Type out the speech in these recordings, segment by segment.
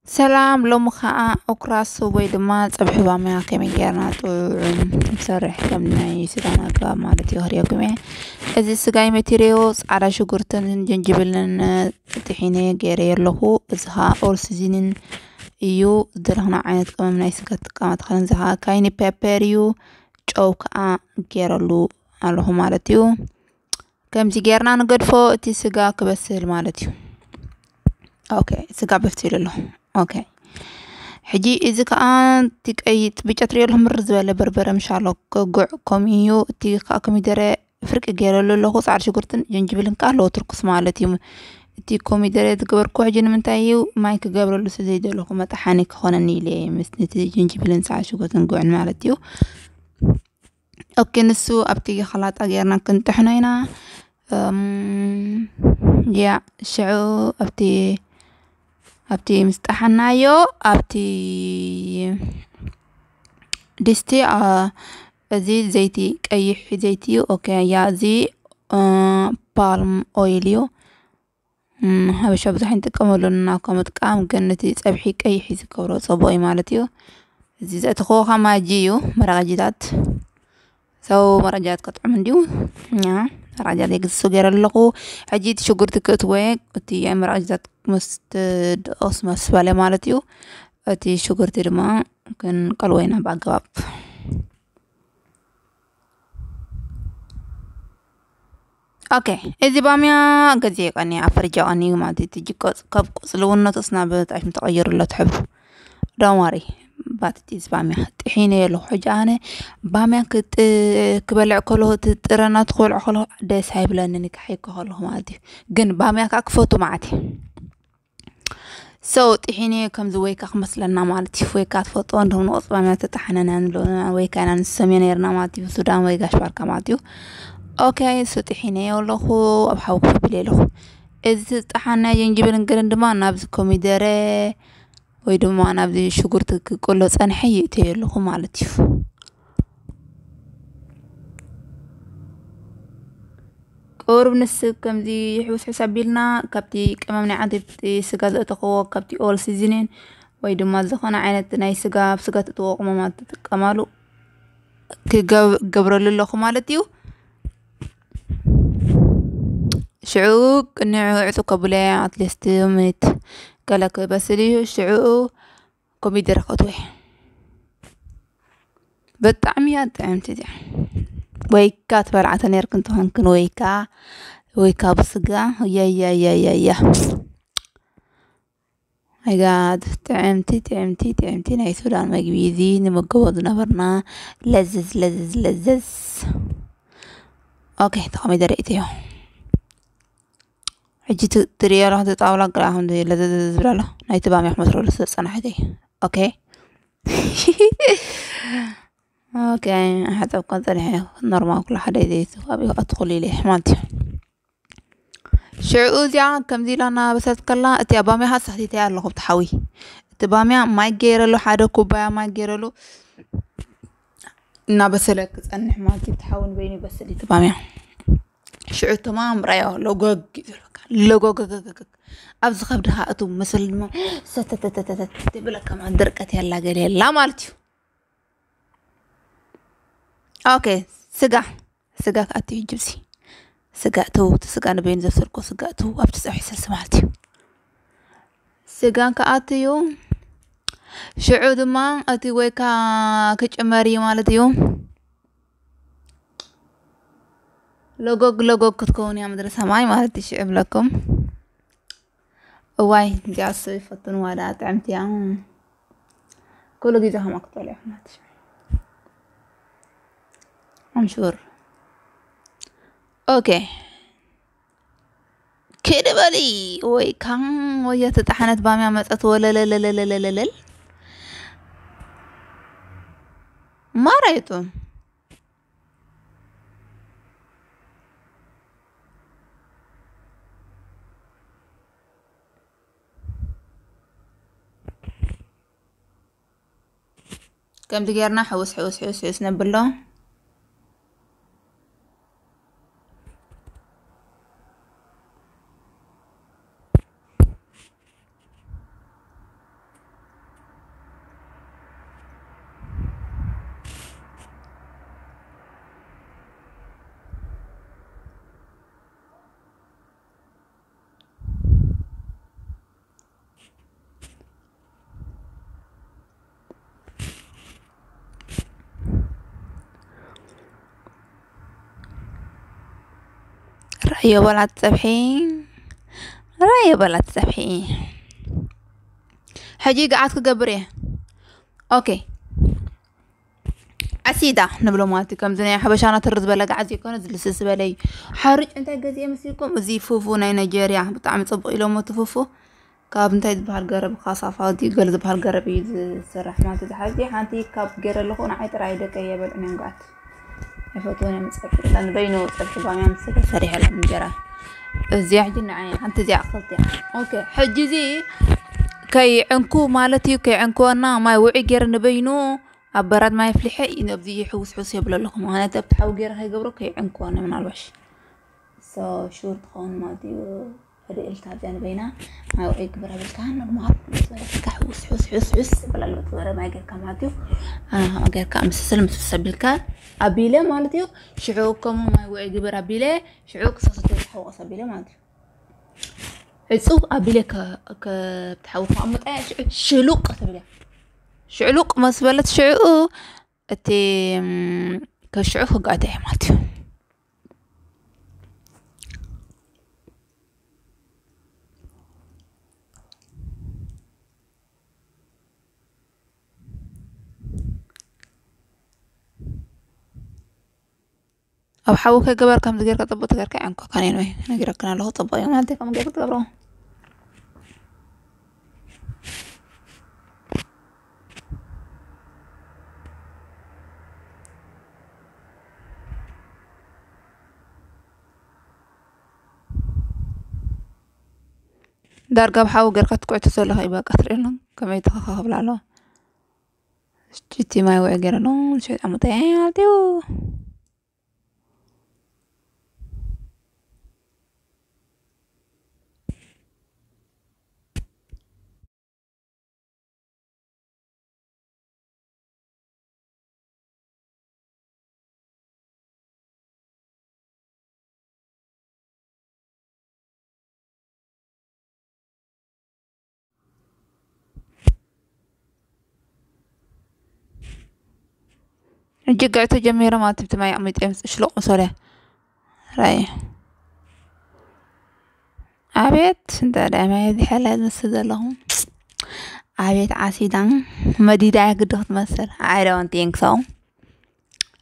ሰላም፣ ሎሚ ኸዓ ኦክራስ ወይ ድማ ጸብሒ ባምያ ከመይ ጌርና ጥዑም ንሰርሕ፣ ከም ናይ ስጋና ኣገባብ ማለት እዩ፣ ክርእየኩም እየ። እዚ ስጋይ መቴሪዮ ጻዕዳ ሽጉርትን ጅንጅብልን ጥሒነ ገይረ ኣለኹ። እዚ ኸዓ ኦል ሲዝኒን እዩ። ዝደለኽና ዓይነት ቅመም ናይ ስጋ ትጥቀማ ትኽእልን። እዚ ኸዓ ካይኒ ፔፐር እዩ። ጨው ከዓ ገይረሉ ኣለኹ ማለት እዩ። ከምዚ ጌርና ንገድፎ፣ እቲ ስጋ ክበስል ማለት እዩ። ኦኬ፣ ስጋ በሲሉ ኣሎ። ኦኬ፣ ሕጂ እዚ ከዓ እቲ ቀይጥ ብጫ ትሪኦ ኣለኹም፣ ምርር ዝበለ በርበረ ምሻሎ ክጉዕ ከምኡ እዩ። እቲ ከዓ ኮሚደረ ፍርቂ ገይረሉ ኣለኹ። ፃዕዳ ሽጉርትን ጅንጅብልን ከዓ ኣለዎ፣ ትርኩስ ማለት እዩ። እቲ ኮሚደረ ዝገበርኩ ሕጂ ንምንታይ እዩ፣ ማይ ክገብረሉ ስለ ዘይደለኹ፣ መጥሓኒ ክኾነኒ ኢለ እየ፣ ምስ ነቲ ጅንጅብልን ፃዕዳ ሽጉርትን ጉዕን ማለት እዩ። ኦኬ፣ ንሱ ኣብቲ ኸላጣ ጌርና ክንጥሕኖ ኢና። እም፣ ያ፣ ሽዑ ኣብቲ፣ ኣብቲ ምስ ጠሓናዮ፣ ኣብቲ ድስቲ፣ አ፣ እዚ ዘይቲ፣ ቀይሕ ዘይቲ እዩ። ኦኬ፣ ያ፣ እዚ፣ እ፣ ፓልም ኦይል እዩ። እም፣ ሓበሻ ብዙሕ ኣይንጥቀመሉን፣ ናብ ካብ ምጥቃም ግን ነቲ ጸብሒ ቀይሕ እዩ ዝገብሮ፣ ጽቡቕ እዩ ማለት እዩ። እዚ ዘእተኽዎ ኸዓ ማጂ እዩ፣ መረቕ ኣጅታት። ሰው መረቕ ኣጅታት ከጥዕም እንድዩ። ያ፣ መረቕ ኣጅታት የግዝሱ ገይረ ኣለኹ። ሕጂ እቲ ሽጉርቲ ክእትዎ እየ፣ እቲ መረቕ ኣጅታት ምስ ትድቕስ መስ በለ ማለት እዩ። እቲ ሽጉርቲ ድማ ክንቀልዎ ኢና ብኣገባብ። ኦኬ፣ እዚ ባምያ ገዜ ቀኒ ኣብ ፈርጃ ቀኒ ማለት እዩ። ትጂ ቆጽ-፣ ካብ ቆጽልውነቱ ስና ብጣዕሚ ተቐይሩ ኣሎ ትሕብ። ዶን ዋሪ፣ ባት እቲ እዚ ባምያ ጥሒነ ኣለኹ። ሕጂ ኣነ ባምያ ክጥ-፣ ክበልዕ ከለኹ፣ እቲ ጥረ ናቱ ክበልዕ ከለኹ ደስ ኣይብለንን፣ ክሓይኮ ከለኹ ማለት እዩ። ግን ባምያ ከዓ ክፈቱ ማለት እዩ። So፣ ጥሒነ ከምዚ ወይካ ክመስለና ማለት እዩ። ወይካ ትፈልጥዎ እንዲኹም ንቆጽ ባምያ ተጣሓነና ንብሎ፣ ወይካ ኢና ንሰምዮ ነይርና ማለት እዩ። ሱዳን ወይ ጋሽ ባርካ ማለት እዩ። ኦኬ፣ so ጥሒነ ኣለኹ፣ ኣብ ሓዊ ክፍብል ኣለኹ። እዚ ዝተጣሓነ ጅንጅብልን ገለን ድማ ናብዚ ኮሚደረ ወይ ድማ ናብዚ ሽጉርቲ ክቅሎ ጸንሐ ይእተዮ ኣለኹ ማለት እዩ። ቁሩብ ንስ ከምዚ ሕውስሕስ ኣቢልና ካብቲ ቅመም ናይ ዓንተይቲ ስጋ ዘእተኽዎ ካብቲ ኦል ሲዝኒን ወይ ድማ ዝኾነ ዓይነት ናይ ስጋ፣ ኣብ ስጋ ትእትዎ ቅመማት ትጥቀማሉ ክገብ-፣ ገብረሉ ኣለኹ ማለት እዩ። ሽዑ ቅንዕ ዕጹ ከብለ ኣትሊስት ሚኒት ገለ ክበስል እዩ። ሽዑ ኮሚደረ ከእትወ። ብጣዕሚ እያ ጥዕምቲ እዚኣ። ወይካ ትበልዓቶ ነይርክን ትኾንክን ወይካ፣ ወይካ ብስጋ። ያያያያያ። My God፣ ጥዕምቲ፣ ጥዕምቲ፣ ጥዕምቲ ናይ ሱዳን መግቢ። እዚ ንምገቦ ዝነበርና ለዝዝ፣ ለዝዝ፣ ለዝዝ። ኦኬ፣ ተኾሚደረ እትዮ። ሕጂ ት-፣ ትርእዮ ኣለኹ፣ እቲ ጣውላ ግራ ከም ለዘዘ ዝብል ኣሎ። ናይቲ ባምያ ክመስለሉ ስለ ዝጸናሕከ። ኦኬ። ኦኬ፣ ሓጸብካ ጸኒሐ ኖርማል ኩሉ ሓደ እዩ ዘይሱ፣ ኣብኡ ኣትኹሉ ኢለ ማለት እዩ። ሽዑ እዚኣ ከምዚ ኢላ እናበሰለት ከላ፣ እቲ ኣብ ባምያ ሃሳ ሰቲተያ ኣለኹ፣ ኣብቲ ሓዊ። እቲ ባምያ ማይ ገይረሉ፣ ሓደ ኩባያ ማይ ገይረሉ፣ እናበሰለ ክጸንሕ ማለት እዩ። እቲ ሓዊ ንበይኑ ይበስል እዩ፣ እቲ ባምያ። ሽዑ ተማም ራዮ፣ ሎጎግ እዩ ዝብለካ። ሎጎግ። ኣብዚ ከብድኻ እቱ ምስል ድማ ሰተተተተተት ይብለካ፣ ማለት ድርቀት ያላ ገለ የላ ማለት እዩ። ኦኬ፣ ስጋ፣ ስጋ ክኣቱ እዩ ጅብሲ። ስጋ እቱ፣ እቲ ስጋ ንበይኑ ዘብሰልኮ ስጋ እቱ፣ ኣብቲ ጸብሒ ስልሲ ማለት እዩ። ስጋ ክኣቱ እዩ። ሽዑ ድማ እቲ ወይካ ክጭመር እዩ ማለት እዩ። ሎጎግ ሎጎግ ክትከውን እያ ምድሪ ሰማይ ማለት እዩ። ሽዑ እብለኩም። እዋይ፣ እዚኣ እሱ ይፈትንዋ ደኣ፣ ጥዕምቲ እያ። ኩሉ ግዜ ከምኣ ክትበልዑ ናትሽ። I'm sure። ኦኬ። ክዲ በሊ ወይ ካን ወይ ተጣሓነት ባምያ መጸት ወለለለለለለለል። ማራይቱ። ከምዚ ጌርና ሕውስ፣ ሕውስ፣ ሕውስ፣ ሕውስ ነብሎ። እዮ በላት ጸብሒ። ራዮ በላት ጸብሒ። ሕጂ ገዓት ክገብር እየ። ኦኬ። ዓሲዳ ንብሎ ማለት እዩ። ከምዚ ናይ ሓበሻና ትር ዝበለ ገዓት ዘይኮነ፣ ዝልስልስ ዝበለ እዩ። ሓርጭ እንታይ ገዚኤ መሲልኩም? እዚ ፉፉ ናይ ናይጀርያ ብጣዕሚ ጽቡቕ ኢሎሞ እቲ ፉፉ። ካብ እንታይ ዝበሃል ገረብ፣ ካሳፋ ድዩ ገለ ዝበሃል ገረብ እዩ ዝስራሕ ማለት እዩ። ዝሓዚ ሓንቲ ካብ ገይረ ኣለኹ፣ ንዓይ ጥራይ ደቀይ የበልዑን እዮም ገዓት። ኣይፈትዎን እዮም ጸብሒ። ንበይኑ ጸብሒ ባምያ ምስ ስጋ ሰሪሐሎም እንጀራ። እዚኣ ሕጂ ንዓይ ሓንቲ እዚኣ ክልቲኣ። ኦኬ፣ ሕጂ እዚ ከይዕንኩ ማለት እዩ፣ ከይዕንክወና ማይ ውዑይ ገይረ ንበይኑ ኣብ በራድ ማይ ኣፍሊሐ እዩ ነብዚ ሕውስ ሕውስ የብሎ ኣለኹ። ምኽንያቱ ኣብቲ ሓዊ ገይረ ከይገብሮ ከይዕንክወኒ ምናልባሽ። ሶ ሹር ትኸውን ማለት እዩ። ሕድእልካ እዚኣ ንበይና ማይ ውዑይ ግበር ኣብልካ ኖርማል ዝበለካ ሕውስ ሕውስ ሕውስ ሕውስ ይበል ኣሎ። ዝበለ ማይ ጌርካ ማለት እዩ። ኣነ ከምኡ ጌርካ ምስስል ምስስ ኣቢልካ ኣቢለ ማለት እዩ። ሽዑ ከምኡ ማይ ውዑይ ግበር ኣቢለ ሽዑ ክሳብ ሰተ ዝሓወቐስ ኣቢለ ማለት እዩ። ዕጹ ኣቢለ ከ-፣ ከ-፣ ኣብቲ ሓዊ ከቐምጣ እያ። ሽዑ ሽሉቕ ትብል እያ። ሽዕሉቕ መስ በለት ሽዑ እቲ፣ እም፣ ከሽዑ ክጋተ እያ ማለት እዩ። ኣብ ሓዊ ከይገበር ከምዚ ጌርካ ጽቡቕ ተጌርካ ዕንኮ ካኔን ወይ ነጊረክን ኣለኹ። ጽቡቕ እዩ ማለት እዩ ከምኡ ጌርካ ትገብሮ። ዳርጋ ኣብ ሓዊ ጌርካ ትኩዕቶ ዘለኻ እዩ በቃ ትርኢ ኣሎ። ከመይ ተኸኻ ክብላ ኣለዋ። ሽቲ ማይ ውዒ ገይረ ኣሎ። ሽዑ ኣሙጠ ማለት እዩ። ሕጂ ግዕቱ ጀሚሮም ኣብ ትብቲ ማይ ኣቕሚጦም ሽሎቕ መሶልያ። ራይ። ኣቤት፣ እንተ ደኣ ማይ እዚ ሓላል ዝመስል ዘለኹ። ኣቤት ዓሲዳ፣ መዲዳ እያ ግዲ ክትመስል። I don't think so።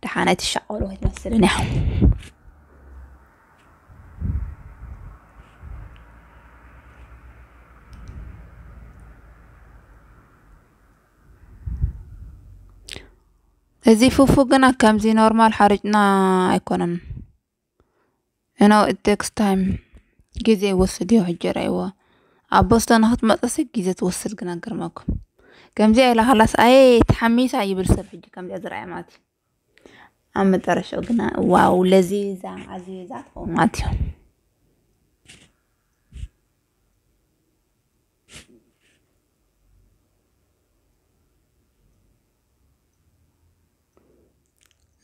ደሓን ኣይትሻቐሉ ኣይትመስልን እያ። እዚ ፉፉ ግና ከምዚ ኖርማል ሓርጭና ኣይኮነን። You know, it takes time። ግዜ ይወስድ እዩ። ሕጂ ርኣይዎ። ኣብ ቦስቶን ንክትመጽእሲ ግዜ ትወስድ ግና ገርመኩም። ከምዚኣ ኢላ ከላስ ኣየ ተሓሚሳ ይብል ሰብ ሕጂ ከምዚኣ ዝረኣየ ማለት እዩ። ኣብ መጨረሻው ግና ዋው ለዚዛ ዓዚዛ ትኸውን ማለት እዩ።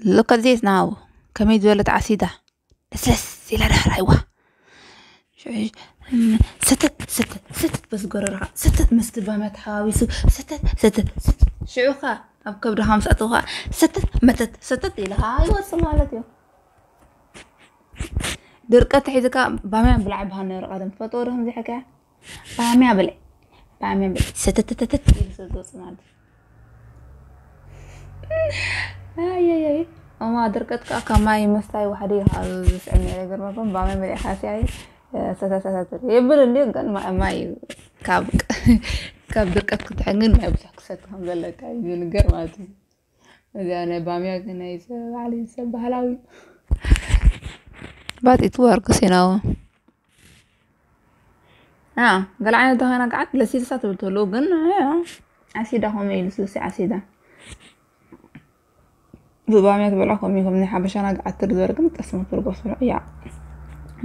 Look at this now። ከመይ ዝበለት ዓሲዳ። ለስለስ ኢላ ዳሕር ኣይዋ። ሽዑ፣ እም፣ ሰተት፣ ሰተት፣ ሰተት በዚ ጎረርኻ፣ ሰተት ምስቲ ባምያ ተሓዋዊሱ፣ ሰተት፣ ሰተት፣ ሰተት። ሽዑ ኸኣ ኣብ ከብድኻ ምስ ኣተወ ኸኣ፣ ሰተት፣ መተት፣ ሰተት ኢልኻ ይወጽእ ማለት እዩ። ድርቀት ሒዝካ ባምያ ብላዕ ይበሃል ነይሩ ቀደም። ትፈልጥዎ ዶ ከምዚ ሓካያ? ባምያ ብልዕ፣ ባምያ ብልዕ፣ ሰተተተተት ኢሉ ስለ ዝወጽእ ማለት እዩ። ኣየየይ፣ እማ ድርቀት ከኣ ካብ ማይ ምስታይ ዋሕዲ እዩ ዝስዕብ ነይሩ። ይገርመኩም፣ ባምያ መሊእካ ሲኣይ፣ ሰተተተተት የብል እንድዩ፣ ግን ማ-፣ ማይ ካብ፣ ካብ ድርቀት ክትድሕን ግን ማይ ብዙሕ ክሰቲ ከም ዘለካ እዩ ዝንገር ማለት እዩ። እዚኣ ናይ ባምያ ግን ናይ ሰብ፣ ባዕለይ ሰብ ባህላዊ እዩ። But it works, you know። አ፣ ገለ ዓይነት ደኸና ገዓት ለሲልሳ ትብል ተሎ፣ ግን፣ አ፣ ኣሲዳ ከምኡ እዩ፣ ልስሉስ ኣሲዳ። ብባምያ ትበልዖ ከምኡ እዩ፣ ከም ናይ ሓበሻና ገዓት ትር ዝበለ ግን ጠስሚ ትርጎ ስብሎ፣ ያ፣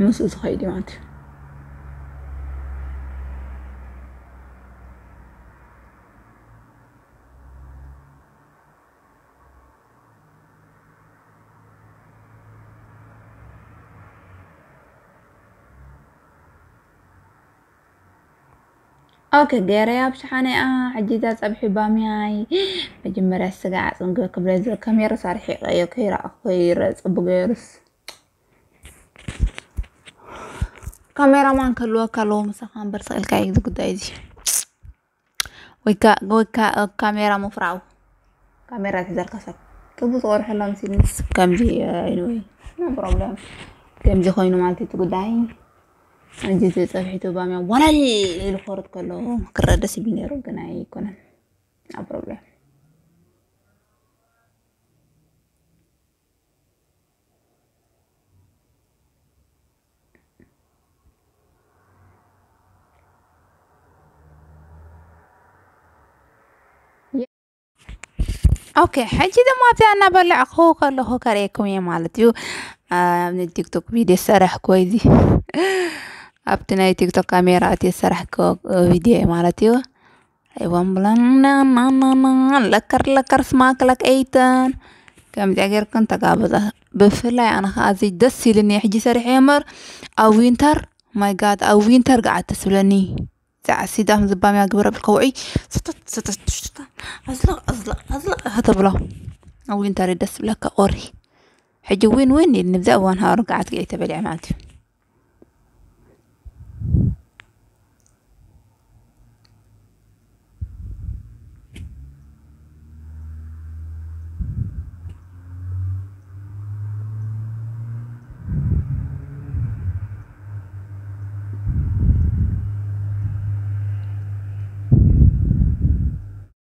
ምስኡ ዝኸይድ እዩ ማለት እዩ። ኦኬ፣ ገይረያ ኣብ ሸሓነኣ። ሕጂ እዛ ጸብሒ ባምያይ መጀመርያ ስጋ ዓጽም ገ-፣ ክብለ ዝ-፣ ከሜራ ሳርሒ ቀዮ ከይረኣኹ ይረ ጽቡ ገይሩስ። ካሜራማን ከልወካ ኣለዎ ምሳኻ እምበር ስቕ ኢልካ እዩ እዚ ጉዳይ እዚ። ወይ ካ- ወይ ካ- ካሜራ ምፍራው፣ ካሜራ ትዘርካ ሰብ ክቡ ዝቆርሐላ ምስ ምስ ከምዚ። Anyway, no problem። ከምዚ ኮይኑ ማለት እቲ ጉዳይ እንጂ እቲ ፀብሒቱ ባምያ ዋላል ኢሉ ክወርድ ከሎ ክረአ ደስ ይብል ነይሩ፣ ግን ኣይኮነን። No problem። ኦኬ፣ ሕጂ ድማ ኣብዚኣ እናበላዕኹ ከለኹ ከርእየኩም እየ ማለት እዩ። ኣብ ናይ ቲክቶክ ቪድዮ ዝሰራሕኩዎ እዚ ኣብቲ ናይ ቲክቶክ ካሜራ እቲ ዝሰራሕኩዎ ቪድዮ እየ ማለት እዩ። ኣይዋን ብላና ለከር ለከር ስማክ ለክ ኤይተን ከምዚኣ ጌርክን ተጋበዛ። ብፍላይ ኣነ ከዓ እዚ ደስ ኢልኒ ሕጂ ሰሪሐ እየ እምበር ኣብ ዊንተር፣ ማይ ጋድ፣ ኣብ ዊንተር ገዓት ተስብለኒ። ዛዕሲዳም ዝባምያ ግብረ ብልካ ውዑይ ስተት ስተት ሽታ ኣዝለቕ ኣዝለቕ ኣዝለቕ ከተብሎ ኣብ ዊንተር ደስ ብለካ ኦሪ። ሕጂ ዊን ዊን ኢል ንብዛ እዋን ሃወር ገዓት ገዒ ተበሊዐ ማለት እዩ።